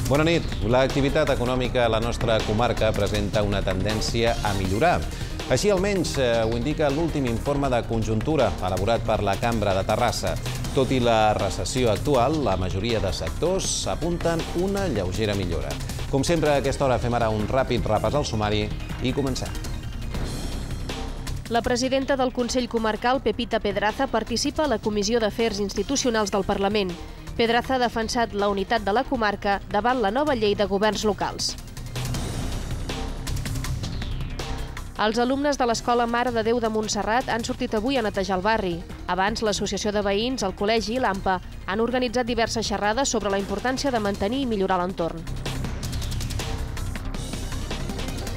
Bona nit. L'activitat econòmica a la nostra comarca presenta una tendència a millorar. Així almenys ho indica l'últim informe de conjuntura elaborat per la Cambra de Terrassa. Tot i la recessió actual, la majoria de sectors apunten una lleugera millora. Com sempre, a aquesta hora fem ara un ràpid repàs al sumari i comencem. La presidenta del Consell Comarcal, Pepita Pedraza, participa a la Comissió d'Afers Institucionals del Parlament. Pedraza ha defensat la unitat de la comarca davant la nova llei de governs locals. Els alumnes de l'Escola Mare de Déu de Montserrat han sortit avui a netejar el barri. Abans, l'Associació de Veïns, el Col·legi i l'AMPA han organitzat diverses xerrades sobre la importància de mantenir i millorar l'entorn.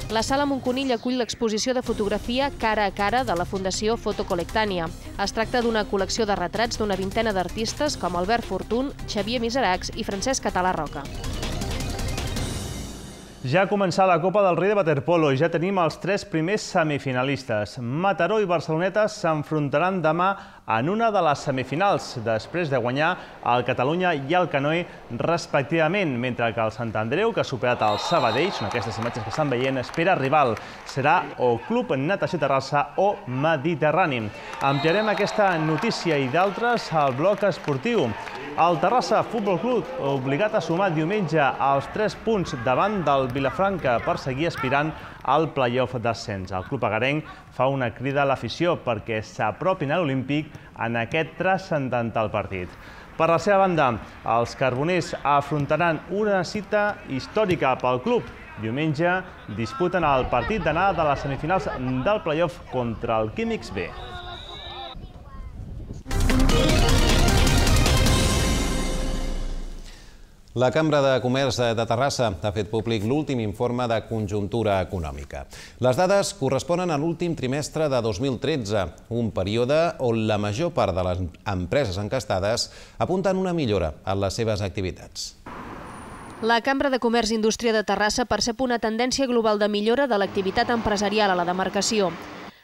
La Sala Montconill acull l'exposició de fotografia Cara a Cara de la Fundació Fotocolectània. Es tracta d'una col·lecció de retrats d'una vintena d'artistes com Albert Fortuny, Xavier Miseracs i Francesc Català Roca. Ja ha començat la Copa del Rei de waterpolo i ja tenim els 3 primers semifinalistes. Mataró i Barceloneta s'enfrontaran demà en una de les semifinals, després de guanyar el Catalunya i el Canoe respectivament, mentre que el Sant Andreu, que ha superat el Sabadell, són aquestes imatges que estan veient, espera rival. Serà o Club Natació Terrassa o Mediterrani. Ampliarem aquesta notícia i d'altres al bloc esportiu. El Terrassa Futbol Club, obligat a sumar diumenge els 3 punts davant del Vilafranca per seguir aspirant al play-off d'ascens. El club agarenc fa una crida a l'afició perquè s'apropin a l'Olímpic en aquest transcendental partit. Per la seva banda, els carboners afrontaran una cita històrica pel club. Diumenge disputen el partit d'anada de les semifinals del play-off contra el Químics B. La Cambra de Comerç de Terrassa ha fet públic l'últim informe de conjuntura econòmica. Les dades corresponen a l'últim trimestre de 2013, un període on la major part de les empreses encastades apunten una millora en les seves activitats. La Cambra de Comerç i Indústria de Terrassa percep una tendència global de millora de l'activitat empresarial a la demarcació.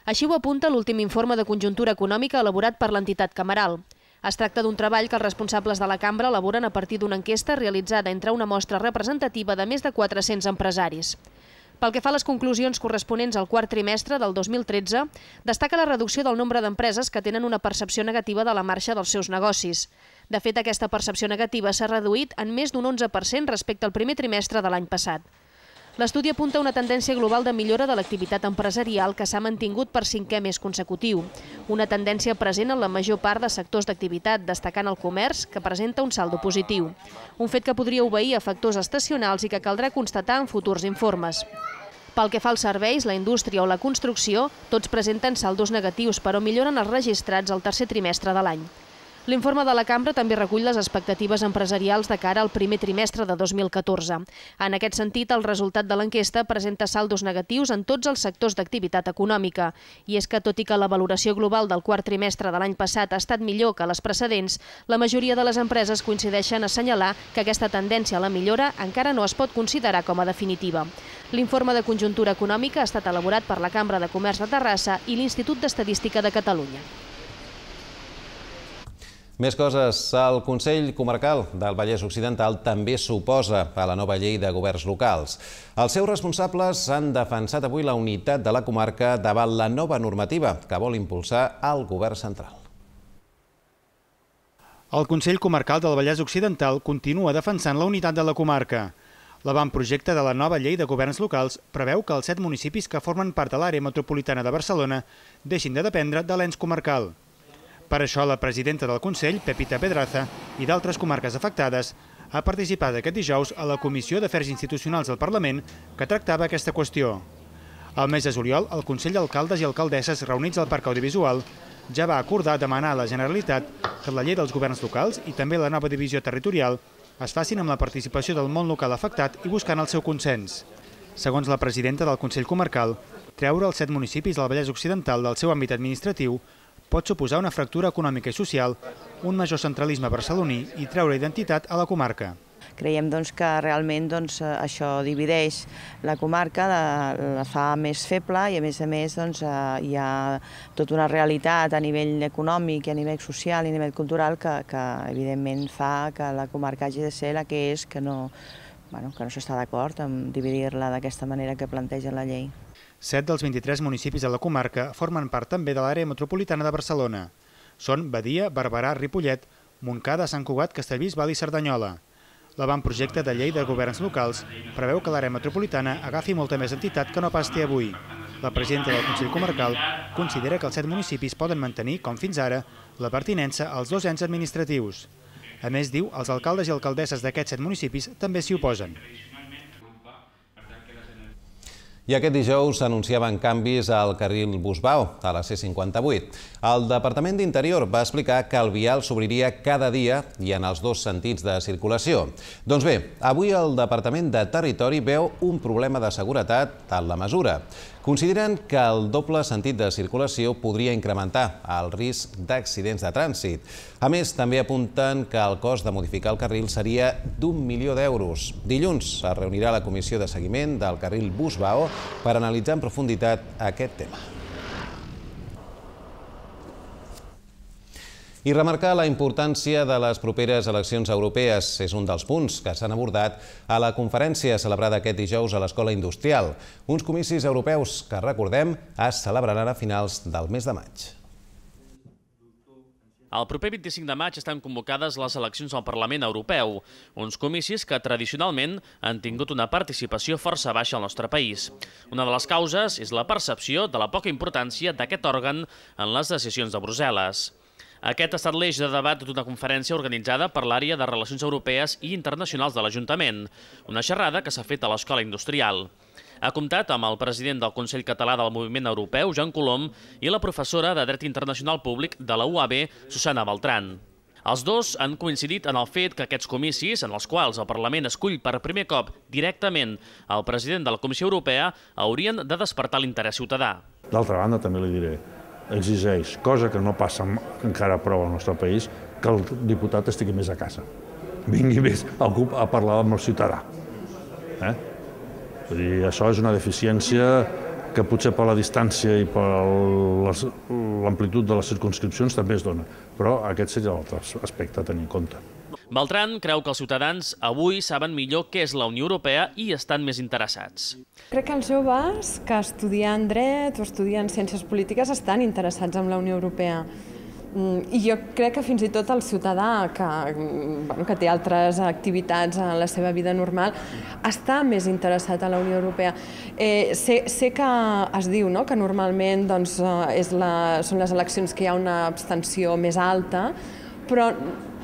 Així ho apunta l'últim informe de conjuntura econòmica elaborat per l'entitat cameral. Es tracta d'un treball que els responsables de la cambra elaboren a partir d'una enquesta realitzada entre una mostra representativa de més de 400 empresaris. Pel que fa a les conclusions corresponents al quart trimestre del 2013, destaca la reducció del nombre d'empreses que tenen una percepció negativa de la marxa dels seus negocis. De fet, aquesta percepció negativa s'ha reduït en més d'un 11% respecte al primer trimestre de l'any passat. L'estudi apunta una tendència global de millora de l'activitat empresarial que s'ha mantingut per 5è mes consecutiu. Una tendència present en la major part de sectors d'activitat, destacant el comerç, que presenta un saldo positiu. Un fet que podria obeir a factors estacionals i que caldrà constatar en futurs informes. Pel que fa als serveis, la indústria o la construcció, tots presenten saldos negatius, però milloren els registrats al tercer trimestre de l'any. L'informe de la cambra també recull les expectatives empresarials de cara al primer trimestre de 2014. En aquest sentit, el resultat de l'enquesta presenta saldos negatius en tots els sectors d'activitat econòmica. I és que, tot i que la valoració global del quart trimestre de l'any passat ha estat millor que les precedents, la majoria de les empreses coincideixen a assenyalar que aquesta tendència a la millora encara no es pot considerar com a definitiva. L'informe de conjuntura econòmica ha estat elaborat per la Cambra de Comerç de Terrassa i l'Institut d'Estadística de Catalunya. Més coses. El Consell Comarcal del Vallès Occidental també s'oposa a la nova llei de governs locals. Els seus responsables han defensat avui la unitat de la comarca davant la nova normativa que vol impulsar el govern central. El Consell Comarcal del Vallès Occidental continua defensant la unitat de la comarca. L'avantprojecte de la nova llei de governs locals preveu que els 7 municipis que formen part de l'àrea metropolitana de Barcelona deixin de dependre de l'ens comarcal. Per això, la presidenta del Consell, Pepita Pedraza, i d'altres comarques afectades, ha participat aquest dijous a la Comissió d'Afers Institucionals del Parlament que tractava aquesta qüestió. Al mes de juliol, el Consell d'Alcaldes i Alcaldesses reunits al Parc Audiovisual ja va acordar demanar a la Generalitat que la llei dels governs locals i també la nova divisió territorial es facin amb la participació del món local afectat i buscant el seu consens. Segons la presidenta del Consell Comarcal, treure els 7 municipis del Vallès Occidental del seu àmbit administratiu pot suposar una fractura econòmica i social, un major centralisme barceloní i treure identitat a la comarca. Creiem que realment això divideix la comarca, la fa més feble i a més hi ha tota una realitat a nivell econòmic i a nivell social i a nivell cultural que evidentment fa que la comarca hagi de ser la que és, que no no s'està d'acord en dividir-la d'aquesta manera que planteja la llei. 7 dels 23 municipis de la comarca formen part també de l'àrea metropolitana de Barcelona. Són Badia, Barberà, Ripollet, Montcada, Sant Cugat, Castellbisbal i Cerdanyola. L'avantprojecte de llei de governs locals preveu que l'àrea metropolitana agafi molta més entitat que no pas té avui. La presidenta del Consell Comarcal considera que els 7 municipis poden mantenir, com fins ara, la pertinença als 2 ens administratius. A més, diu, els alcaldes i alcaldesses d'aquests 7 municipis també s'hi oposen. I aquest dijous s'anunciaven canvis al carril Busbao, a la C58. El Departament d'Interior va explicar que el vial s'obriria cada dia i en els 2 sentits de circulació. Doncs bé, avui el Departament de Territori veu un problema de seguretat en la mesura. Consideren que el doble sentit de circulació podria incrementar el risc d'accidents de trànsit. A més, també apunten que el cost de modificar el carril seria d'1 milió d'euros. Dilluns es reunirà la comissió de seguiment del carril Busbao per analitzar en profunditat aquest tema. I remarcar la importància de les properes eleccions europees és un dels punts que s'han abordat a la conferència celebrada aquest dijous a l'Escola Industrial. Uns comicis europeus que, recordem, es celebraran a finals del mes de maig. El proper 25 de maig estan convocades les eleccions al Parlament Europeu, uns comicis que tradicionalment han tingut una participació força baixa al nostre país. Una de les causes és la percepció de la poca importància d'aquest òrgan en les decisions de Brussel·les. Aquest ha estat l'eix de debat d'una conferència organitzada per l'àrea de Relacions Europees i Internacionals de l'Ajuntament, una xerrada que s'ha fet a l'Escola Industrial. Ha comptat amb el president del Consell Català del Moviment Europeu, Joan Colom, i la professora de Dret Internacional Públic de la UAB, Susana Beltrán. Els dos han coincidit en el fet que aquests comicis, en els quals el Parlament escull per primer cop directament el president de la Comissió Europea, haurien de despertar l'interès ciutadà. D'altra banda, també li diré, exigeix, cosa que no passa encara prou al nostre país, que el diputat estigui més a casa. Vingui més a parlar amb el ciutadà. Vull dir, això és una deficiència que potser per la distància i per l'amplitud de les circumscripcions també es dona, però aquest seria l'altre aspecte a tenir en compte. Beltrán creu que els ciutadans avui saben millor què és la Unió Europea i estan més interessats. Crec que els joves que estudien dret o estudien ciències polítiques estan interessats en la Unió Europea. I jo crec que fins i tot el ciutadà que té altres activitats en la seva vida normal està més interessat en la Unió Europea. Sé que es diu que normalment són les eleccions que hi ha una abstenció més alta, però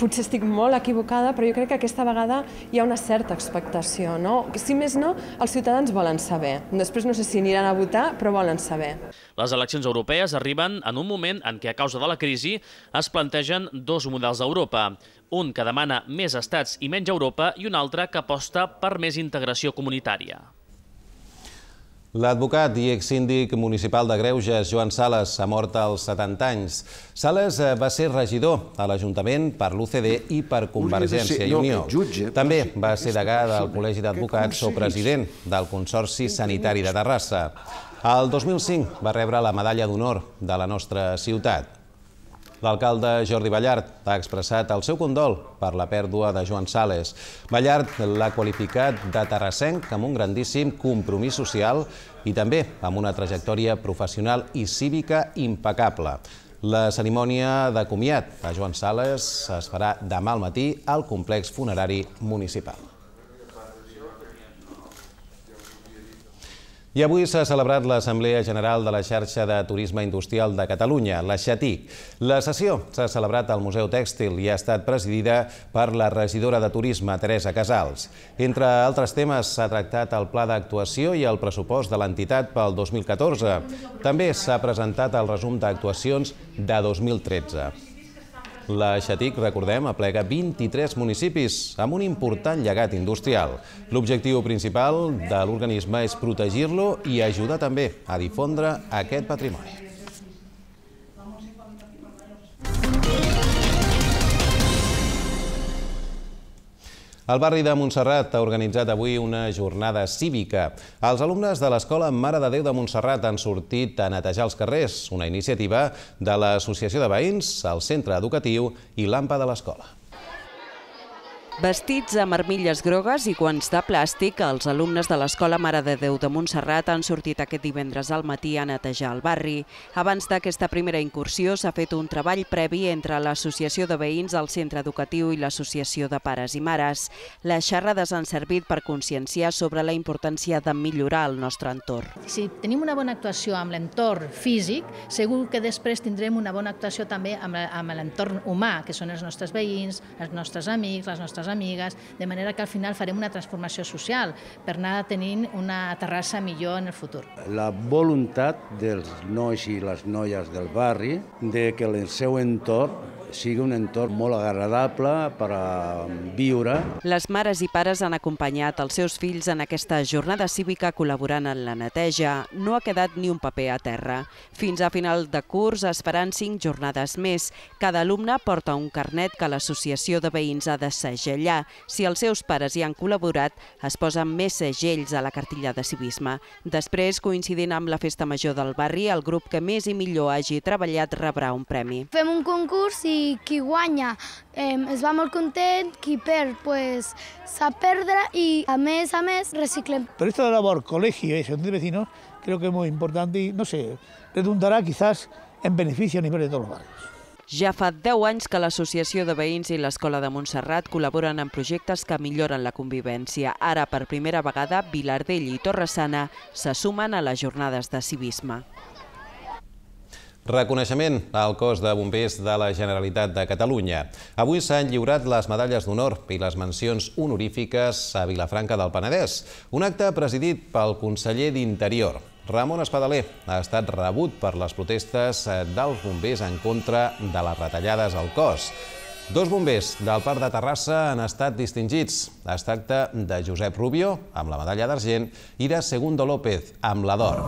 potser estic molt equivocada, però jo crec que aquesta vegada hi ha una certa expectació. Si més no, els ciutadans volen saber. Després no sé si aniran a votar, però volen saber. Les eleccions europees arriben en un moment en què, a causa de la crisi, es plantegen 2 models d'Europa. Un que demana més estats i menys Europa i un altre que aposta per més integració comunitària. L'advocat i exsíndic municipal de Greuges, Joan Sales, ha mort als 70 anys. Sales va ser regidor a l'Ajuntament per l'UCD i per Convergència i Unió. També va ser degà del Col·legi d'Advocats o president del Consorci Sanitari de Terrassa. El 2005 va rebre la Medalla d'Honor de la nostra ciutat. L'alcalde Jordi Ballart ha expressat el seu condol per la pèrdua de Joan Sales. Ballart l'ha qualificat de terrassenc amb un grandíssim compromís social i també amb una trajectòria professional i cívica impecable. La cerimònia de comiat a Joan Sales es farà demà al matí al complex funerari municipal. I avui s'ha celebrat l'Assemblea General de la Xarxa de Turisme Industrial de Catalunya, la XATIC. La sessió s'ha celebrat al Museu Tèxtil i ha estat presidida per la regidora de Turisme, Teresa Casals. Entre altres temes, s'ha tractat el pla d'actuació i el pressupost de l'entitat pel 2014. També s'ha presentat el resum d'actuacions de 2013. La XATIC, recordem, aplega 23 municipis amb un important llegat industrial. L'objectiu principal de l'organisme és protegir-lo i ajudar també a difondre aquest patrimoni. El barri de Montserrat ha organitzat avui una jornada cívica. Els alumnes de l'Escola Mare de Déu de Montserrat han sortit a netejar els carrers, una iniciativa de l'Associació de Veïns, el Centre Educatiu i l'AMPA de l'Escola. Vestits amb armilles grogues i guants de plàstic, els alumnes de l'Escola Mare de Déu de Montserrat han sortit aquest divendres al matí a netejar el barri. Abans d'aquesta primera incursió s'ha fet un treball previ entre l'Associació de Veïns del Centre Educatiu i l'Associació de Pares i Mares. Les xerrades han servit per conscienciar sobre la importància de millorar el nostre entorn. Si tenim una bona actuació amb l'entorn físic, segur que després tindrem una bona actuació també amb l'entorn humà, que són els nostres veïns, els nostres amics, les nostres amigues, de manera que al final farem una transformació social per anar tenint una Terrassa millor en el futur. La voluntat dels nois i les noies del barri de que el seu entorn sigui un entorn molt agradable per a viure. Les mares i pares han acompanyat els seus fills en aquesta jornada cívica col·laborant en la neteja. No ha quedat ni un paper a terra. Fins a final de curs es faran 5 jornades més. Cada alumne porta un carnet que l'associació de veïns ha de segellar. Si els seus pares hi han col·laborat, es posen més segells a la cartilla de civisme. Després, coincidint amb la festa major del barri, el grup que més i millor hagi treballat rebrà un premi. Fem un concurs i qui guanya es va molt content, qui perd sap perdre y a més reciclem. Pero esta labor colegio y asociación de vecinos creo que es muy importante y no sé, redundará quizás en beneficio a nivel de todos los barrios. Ja fa 10 anys que l'Associació de Veïns i l'Escola de Montserrat col·laboren en projectes que milloren la convivència. Ara, per primera vegada, Vilardell i Torre-sana se sumen a les jornades de civisme. Reconeixement al cos de bombers de la Generalitat de Catalunya. Avui s'han lliurat les medalles d'honor i les mencions honorífiques a Vilafranca del Penedès. Un acte presidit pel conseller d'Interior. Ramon Espadaler ha estat rebut per les protestes dels bombers en contra de les retallades al cos. 2 bombers del Parc de Terrassa han estat distingits. Es tracta de Josep Rubio, amb la medalla d'argent, i de Segundo López, amb la d'or.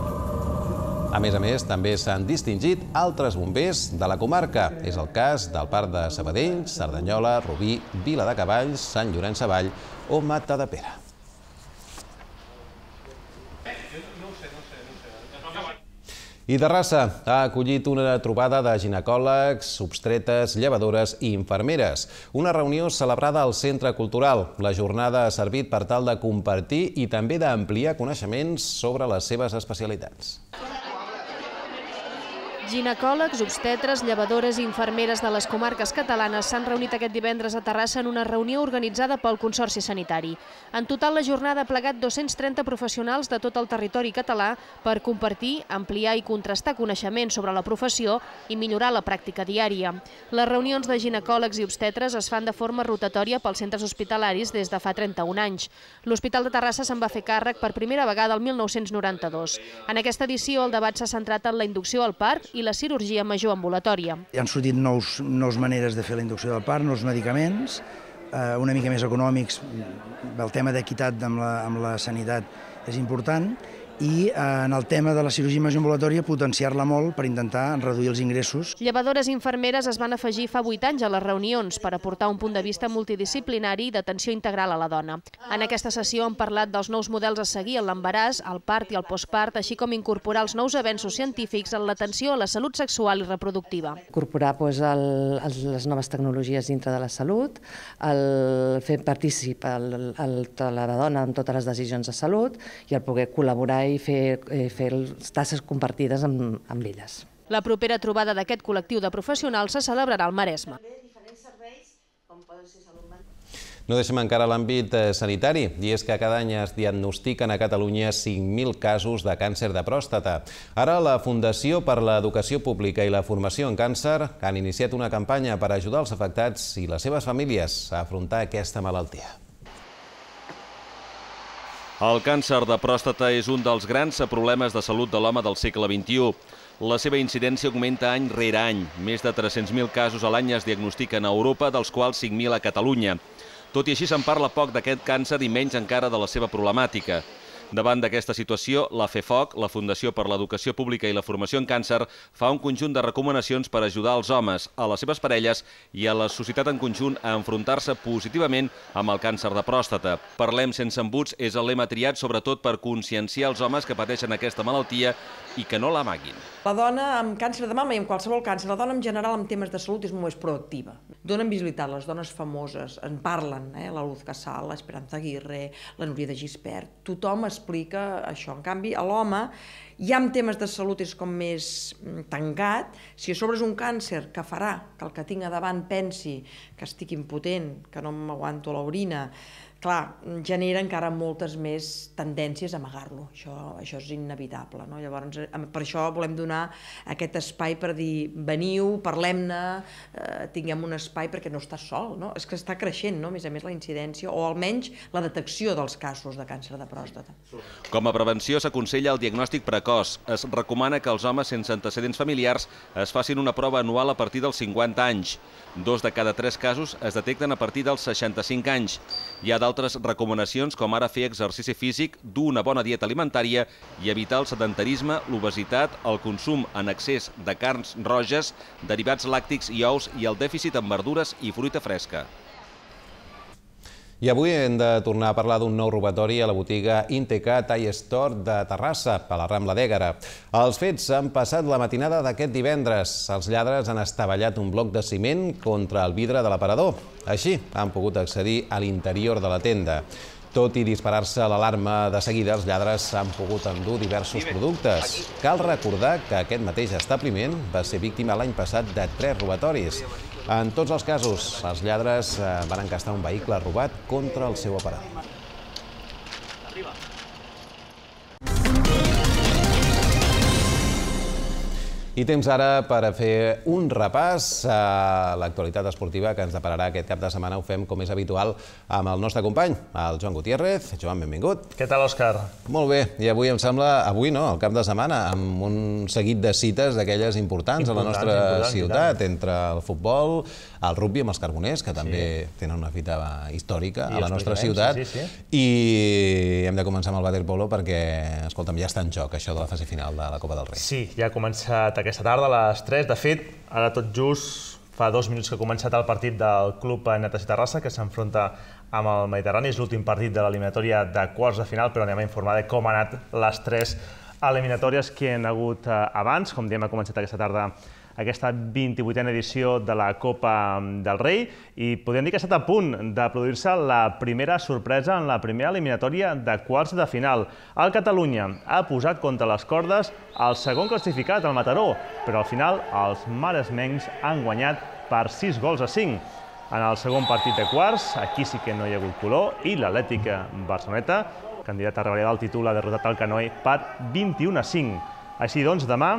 A més, també s'han distingit altres bombers de la comarca. És el cas del Parc de Sabadell, Cerdanyola, Rubí, Viladecavalls, Sant Llorenç Savall o Matadepera. I Terrassa ha acollit una trobada de ginecòlegs, obstetres, llevadores i infermeres. Una reunió celebrada al Centre Cultural. La jornada ha servit per tal de compartir i també d'ampliar coneixements sobre les seves especialitats. Ginecòlegs, obstetres, llevadores i infermeres de les comarques catalanes s'han reunit aquest divendres a Terrassa en una reunió organitzada pel Consorci Sanitari. En total, la jornada ha plegat 230 professionals de tot el territori català per compartir, ampliar i contrastar coneixements sobre la professió i millorar la pràctica diària. Les reunions de ginecòlegs i obstetres es fan de forma rotatòria pels centres hospitalaris des de fa 31 anys. L'Hospital de Terrassa se'n va fer càrrec per primera vegada el 1992. En aquesta edició, el debat s'ha centrat en la inducció al part i la cirurgia major ambulatòria. Han sortit nous maneres de fer la inducció del part, nous medicaments, una mica més econòmics. El tema d'equitat amb la sanitat és important. I en el tema de la cirurgia major ambulatòria potenciar-la molt per intentar reduir els ingressos. Llevadores i infermeres es van afegir fa 8 anys a les reunions per aportar un punt de vista multidisciplinari i d'atenció integral a la dona. En aquesta sessió han parlat dels nous models a seguir en l'embaràs, el part i el postpart, així com incorporar els nous avenços científics en l'atenció a la salut sexual i reproductiva. Incorporar les noves tecnologies dintre de la salut, el fer partícip la dona en totes les decisions de salut i el poder col·laborar i fer tasques compartides amb elles. La propera trobada d'aquest col·lectiu de professionals se celebrarà al Maresme. No deixem encara l'àmbit sanitari, i és que cada any es diagnostiquen a Catalunya 5.000 casos de càncer de pròstata. Ara la Fundació per l'Educació Pública i la Formació en Càncer han iniciat una campanya per ajudar els afectats i les seves famílies a afrontar aquesta malaltia. El càncer de pròstata és un dels grans problemes de salut de l'home del segle XXI. La seva incidència augmenta any rere any. Més de 300.000 casos a l'any es diagnostiquen a Europa, dels quals 5.000 a Catalunya. Tot i així se'n parla poc d'aquest càncer i menys encara de la seva problemàtica. Davant d'aquesta situació, la FEFOC, la Fundació per l'Educació Pública i la Formació en Càncer, fa un conjunt de recomanacions per ajudar els homes, a les seves parelles i a la societat en conjunt a enfrontar-se positivament amb el càncer de pròstata. Parlem sense embuts és el lema triat sobretot per conscienciar els homes que pateixen aquesta malaltia i que no l'amaguin. La dona amb càncer de mama i amb qualsevol càncer, la dona en general en temes de salut és molt més proactiva. donen visibilitat, les dones famoses, en parlen, la Luz Casal, l'Esperanza Aguirre, la Núria de Gispert, tothom explica això. En canvi, a l'home, ja en temes de salut és com més tancat. Si a sobre és un càncer que farà que el que tinc a davant pensi que estic impotent, que no m'aguanto l'orina, clar, genera encara moltes més tendències a amagar-lo. Això és inevitable. Llavors, per això volem donar aquest espai per dir veniu, parlem-ne, tinguem un espai perquè no estàs sol. És que està creixent, a més la incidència, o almenys la detecció dels casos de càncer de pròstata. Com a prevenció s'aconsella el diagnòstic precoç. Es recomana que els homes sense antecedents familiars es facin una prova anual a partir dels 50 anys. 2 de cada 3 casos es detecten a partir dels 65 anys. Hi ha d'altres recomanacions, com ara fer exercici físic, dur una bona dieta alimentària i evitar el sedentarisme, l'obesitat, el consum en excés de carns roges, derivats làctics i ous i el dèficit en verdures i fruita fresca. I avui hem de tornar a parlar d'un nou robatori a la botiga Inteca Tall Store de Terrassa, a la Rambla d'Ègara. Els fets han passat la matinada d'aquest divendres. Els lladres han estavellat un bloc de ciment contra el vidre de l'aparador. Així han pogut accedir a l'interior de la tenda. Tot i disparar-se l'alarma de seguida, els lladres han pogut endur diversos productes. Cal recordar que aquest mateix establiment va ser víctima l'any passat de 3 robatoris. En tots els casos, els lladres van encastar un vehicle robat contra el seu aparador. I temps ara per a fer un repàs a l'actualitat esportiva que ens depararà aquest cap de setmana. Ho fem, com és habitual, amb el nostre company, el Joan Gutiérrez. Joan, benvingut. Què tal, Òscar? Molt bé. I avui em sembla, avui no, el cap de setmana, amb un seguit de cites d'aquelles importants a la nostra ciutat, entre el futbol, el rugbi amb els Carboners, que també tenen una fita històrica a la nostra ciutat. I hem de començar amb el waterpolo perquè, escolta'm, ja està en joc això de la fase final de la Copa del Rei. Sí, ja ha començat aquesta tarda a les 3. De fet, ara tot just fa 2 minuts que ha començat el partit del Club Natació Terrassa, que s'enfronta amb el Mediterrani. És l'últim partit de l'eliminatòria de quarts de final, però anem a informar de com han anat les 3 eliminatòries que hi ha hagut abans. Com diem, ha començat aquesta tarda aquesta 28a edició de la Copa del Rei i podríem dir que ha estat a punt de produir-se la primera sorpresa en la primera eliminatòria de quarts de final. El Catalunya ha posat contra les cordes el segon classificat, el Mataró, però al final els maresmencs han guanyat per 6-5. En el segon partit de quarts, aquí sí que no hi ha hagut color i l'Atlètica Barceloneta, candidata a revalidar el títol, ha derrotat el Canoe per 21-5. Així doncs, demà,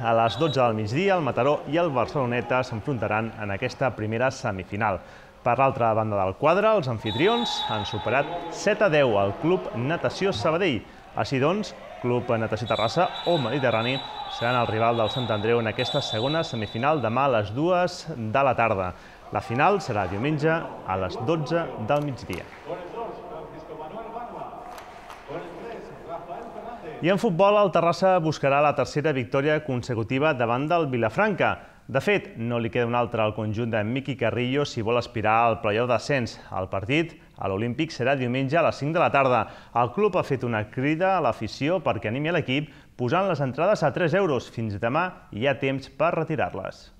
a les 12 del migdia, el Mataró i el Barceloneta s'enfrontaran en aquesta primera semifinal. Per l'altra banda del quadre, els anfitrions han superat 7-10 al Club Natació Sabadell. Així doncs, Club Natació Terrassa o Mediterrani seran el rival del Sant Andreu en aquesta segona semifinal demà a les 2 de la tarda. La final serà diumenge a les 12 del migdia. I en futbol, el Terrassa buscarà la tercera victòria consecutiva davant del Vilafranca. De fet, no li queda un altre al conjunt de Miqui Carrillo si vol aspirar al play-off d'ascens. El partit a l'Olímpic serà diumenge a les 5 de la tarda. El club ha fet una crida a l'afició perquè animi a l'equip posant les entrades a 3 euros. Fins demà hi ha temps per retirar-les.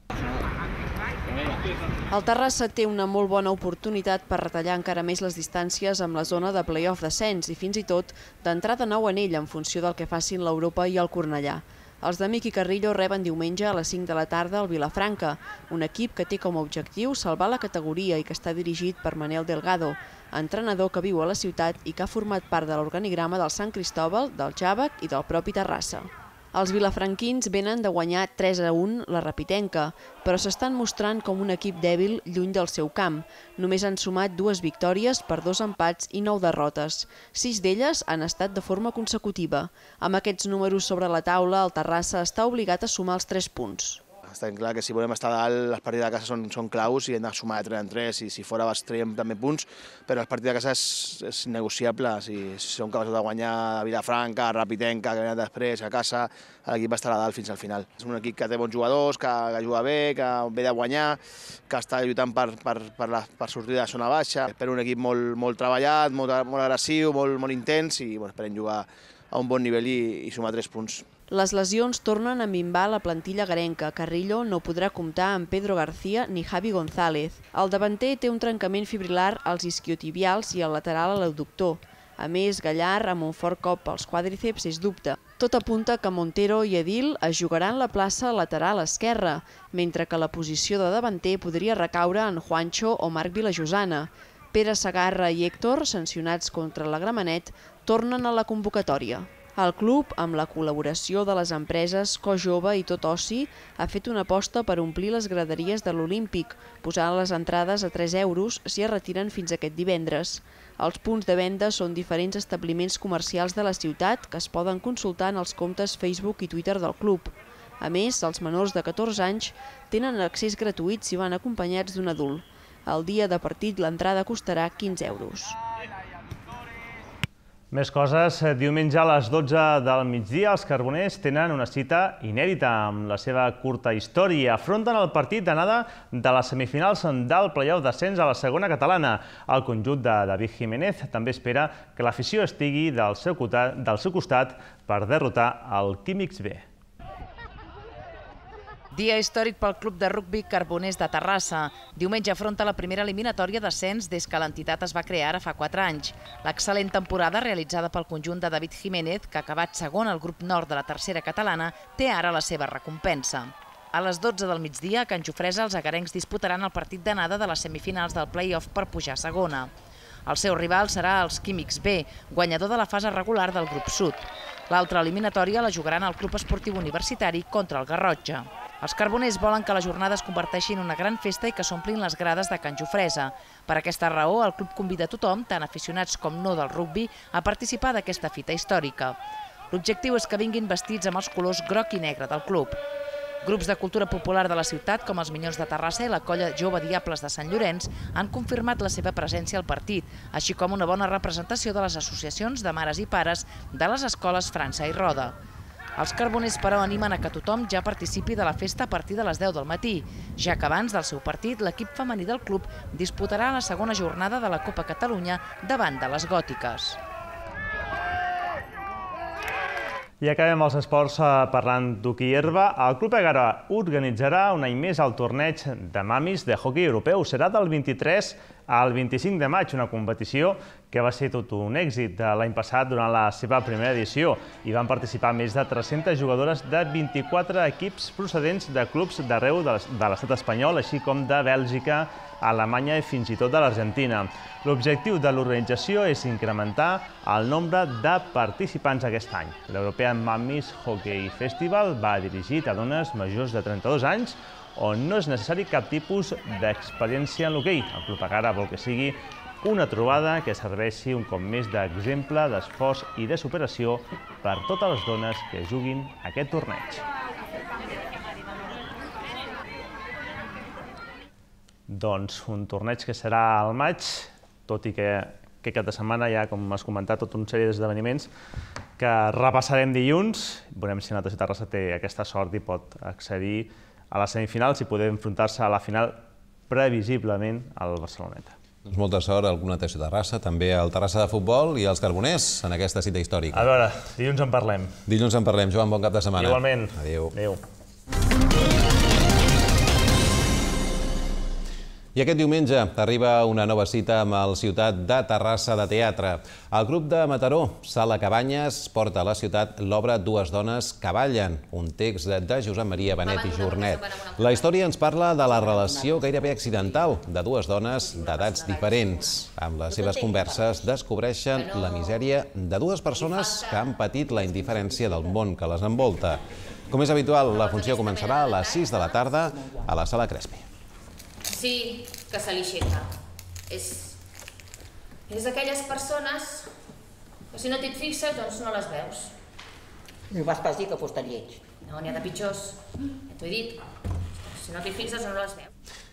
El Terrassa té una molt bona oportunitat per retallar encara més les distàncies amb la zona de play-off d'ascens i fins i tot d'entrar de nou en ell en funció del que facin l'Europa i el Cornellà. Els de Miqui Carrillo reben diumenge a les 5 de la tarda al Vilafranca, un equip que té com a objectiu salvar la categoria i que està dirigit per Manel Delgado, entrenador que viu a la ciutat i que ha format part de l'organigrama del Sant Cristóbal, del Jàvec i del propi Terrassa. Els vilafranquins venen de guanyar 3-1 la Rapitenca, però s'estan mostrant com un equip dèbil lluny del seu camp. Només han sumat 2 victòries per 2 empats i 9 derrotes. 6 d'elles han estat de forma consecutiva. Amb aquests números sobre la taula, el Terrassa està obligat a sumar els 3 punts. Està clar que si volem estar a dalt, els partits de casa són claus i hem de sumar de 3 en 3, i si fora traiem també punts, però el partit de casa és negociable. Si som capaços de guanyar a Vilafranca, a Rapitenca, que venen després, a casa, l'equip estarà a dalt fins al final. És un equip que té bons jugadors, que juga bé, que ve de guanyar, que està lluitant per sortir de zona baixa. Espero un equip molt treballat, molt agressiu, molt intens, i esperem jugar a un bon nivell i sumar 3 punts. Les lesions tornen a minvar la plantilla garenca. Carrillo no podrà comptar amb Pedro García ni Javi González. El davanter té un trencament fibrilar als isquiotibials i al lateral a l'abductor. A més, Gallar, amb un fort cop als quàdriceps, és dubte. Tot apunta que Montero i Edil es jugaran la plaça lateral esquerra, mentre que la posició de davanter podria recaure en Juancho o Marc Vilajosana. Pere Segarra i Héctor, sancionats contra la Gramenet, tornen a la convocatòria. El club, amb la col·laboració de les empreses Cojove i Tot Oci, ha fet una aposta per omplir les graderies de l'Olímpic, posant les entrades a 3 euros si es retiren fins aquest divendres. Els punts de venda són diferents establiments comercials de la ciutat que es poden consultar en els comptes Facebook i Twitter del club. A més, els menors de 14 anys tenen accés gratuït si van acompanyats d'un adult. El dia de partit l'entrada costarà 15 euros. Més coses. Diumenge a les 12 del migdia els carboners tenen una cita inèdita amb la seva curta història. Afronten el partit d'anada de les semifinals del play-off d'ascens a la segona catalana. El conjunt de David Jiménez també espera que l'afició estigui del seu costat per derrotar el Químics B. Dia històric pel club de rugbi Carboners de Terrassa. Diumenge afronta la primera eliminatòria d'ascens des que l'entitat es va crear ara fa 4 anys. L'excel·lent temporada realitzada pel conjunt de David Jiménez, que ha acabat segon al grup nord de la tercera catalana, té ara la seva recompensa. A les 12 del migdia, a Can Jofresa, els agarencs disputaran el partit d'anada de les semifinals del play-off per pujar a segona. El seu rival serà els Químics B, guanyador de la fase regular del grup sud. L'altra eliminatòria la jugaran al Club Esportiu Universitari contra el Garrotxa. Els carboners volen que la jornada es converteixi en una gran festa i que s'omplin les grades de Can Jofresa. Per aquesta raó, el club convida a tothom, tant aficionats com no del rugbi, a participar d'aquesta fita històrica. L'objectiu és que vinguin vestits amb els colors groc i negre del club. Grups de cultura popular de la ciutat, com els Minyons de Terrassa i la colla Jove Diables de Sant Llorenç, han confirmat la seva presència al partit, així com una bona representació de les associacions de mares i pares de les escoles França i Roda. Els carboners, però, animen a que tothom ja participi de la festa a partir de les 10 del matí, ja que abans del seu partit l'equip femení del club disputarà la segona jornada de la Copa Catalunya davant de les Gòtiques. I acabem els esports parlant d'hoquei herba. El Club Egara organitzarà un any més el torneig de mamis de hoquei europeu. Serà del 23 al 25 de maig, una competició que va ser tot un èxit l'any passat durant la seva primera edició. Hi van participar més de 300 jugadores de 24 equips procedents de clubs d'arreu de l'estat espanyol, així com de Bèlgica, Alemanya i fins i tot de l'Argentina. L'objectiu de l'organització és incrementar el nombre de participants aquest any. L'European Mummies Hockey Festival va dirigit a dones majors de 32 anys on no és necessari cap tipus d'experiència en l'hoquei. El Club Egara vol que sigui una trobada que serveixi un cop més d'exemple d'esforç i de superació per totes les dones que juguin aquest torneig. Doncs un torneig que serà al maig, tot i que aquest cap de setmana hi ha, com has comentat, tota una sèrie d'esdeveniments que repassarem dilluns. Veurem si Natació Terrassa té aquesta sort i pot accedir a les semifinals i poder enfrontar-se a la final previsiblement al Barceloneta. Doncs molta sort al Club Natació Terrassa, també al Terrassa de Futbol i als Carboners en aquesta cita històrica. A veure, dilluns en parlem. Dilluns en parlem. Joan, bon cap de setmana. Igualment. Adéu. Adéu. I aquest diumenge arriba una nova cita amb el Ciutat de Terrassa de Teatre. El grup de Mataró, Sala Cabanyes, porta a la ciutat l'obra Dues dones que ballen, un text de Josep Maria Benet i Jornet. La història ens parla de la relació gairebé accidental de dues dones d'edats diferents. Amb les seves converses descobreixen la misèria de dues persones que han patit la indiferència del món que les envolta. Com és habitual, la funció començarà a les 6 de la tarda a la Sala Crespi. Sí, que se li aixeca. És d'aquelles persones que si no t'hi fixes, doncs no les veus. No vas pas dir que fos tan lleig. No, n'hi ha de pitjors. Ja t'ho he dit. Si no t'hi fixes, no les veus.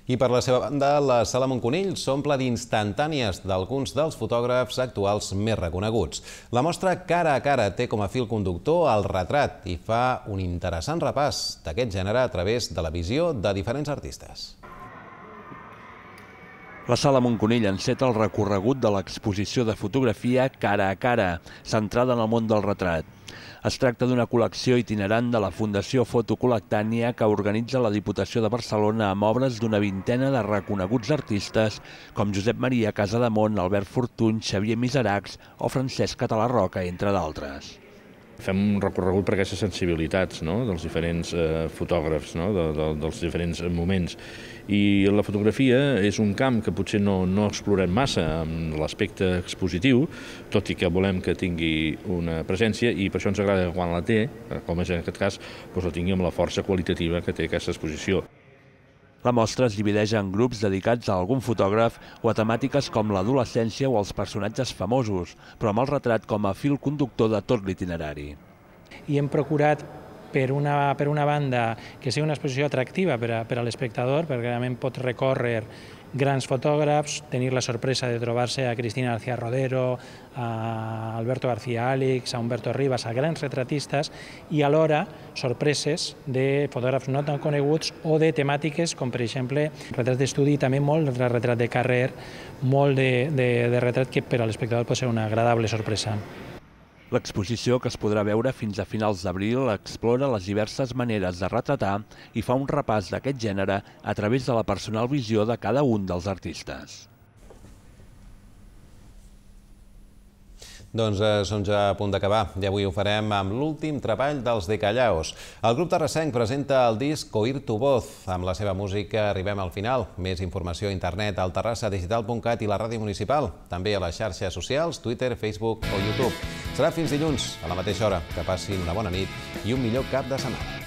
I per la seva banda, la Sala Montconill s'omple d'instantànies d'alguns dels fotògrafs actuals més reconeguts. La mostra Cara a cara té com a fil conductor el retrat i fa un interessant repàs d'aquest gènere a través de la visió de diferents artistes. La Sala Montconill enceta el recorregut de l'exposició de fotografia Cara a Cara, centrada en el món del retrat. Es tracta d'una col·lecció itinerant de la Fundació Fotocolectània que organitza la Diputació de Barcelona amb obres d'una vintena de reconeguts artistes com Josep Maria Casademont, Albert Fortuny, Xavier Miseracs o Francesc Català-Roca, entre d'altres. Fem un recorregut per aquestes sensibilitats dels diferents fotògrafs, dels diferents moments. I la fotografia és un camp que potser no explorem massa amb l'aspecte expositiu, tot i que volem que tingui una presència, i per això ens agrada que quan la té, com és en aquest cas, la tingui amb la força qualitativa que té aquesta exposició. La mostra es divideix en grups dedicats a algun fotògraf o a temàtiques com l'adolescència o els personatges famosos, però amb el retrat com a fil conductor de tot l'itinerari. I hem procurat, per una banda, que sigui una exposició atractiva per a l'espectador, perquè realment pot recórrer grans fotògrafs, tenir la sorpresa de trobar-se a Cristina García Rodero, a Alberto García Àlix, a Humberto Rivas, a grans retratistes, i alhora sorpreses de fotògrafs no tan coneguts o de temàtiques com, per exemple, retrats d'estudi i també molt de retrat de carrer, molt de retrat que per a l'espectador pot ser una agradable sorpresa. L'exposició, que es podrà veure fins a finals d'abril, explora les diverses maneres de retratar i fa un repàs d'aquest gènere a través de la personal visió de cada un dels artistes. Doncs som ja a punt d'acabar i avui ho farem amb l'últim treball dels De Callaos. El grup terrassenc presenta el disc Oír tu voz. Amb la seva música arribem al final. Més informació a internet al terrassadigital.cat i la ràdio municipal. També a les xarxes socials, Twitter, Facebook o YouTube. Serà fins dilluns, a la mateixa hora. Que passin una bona nit i un millor cap de setmana.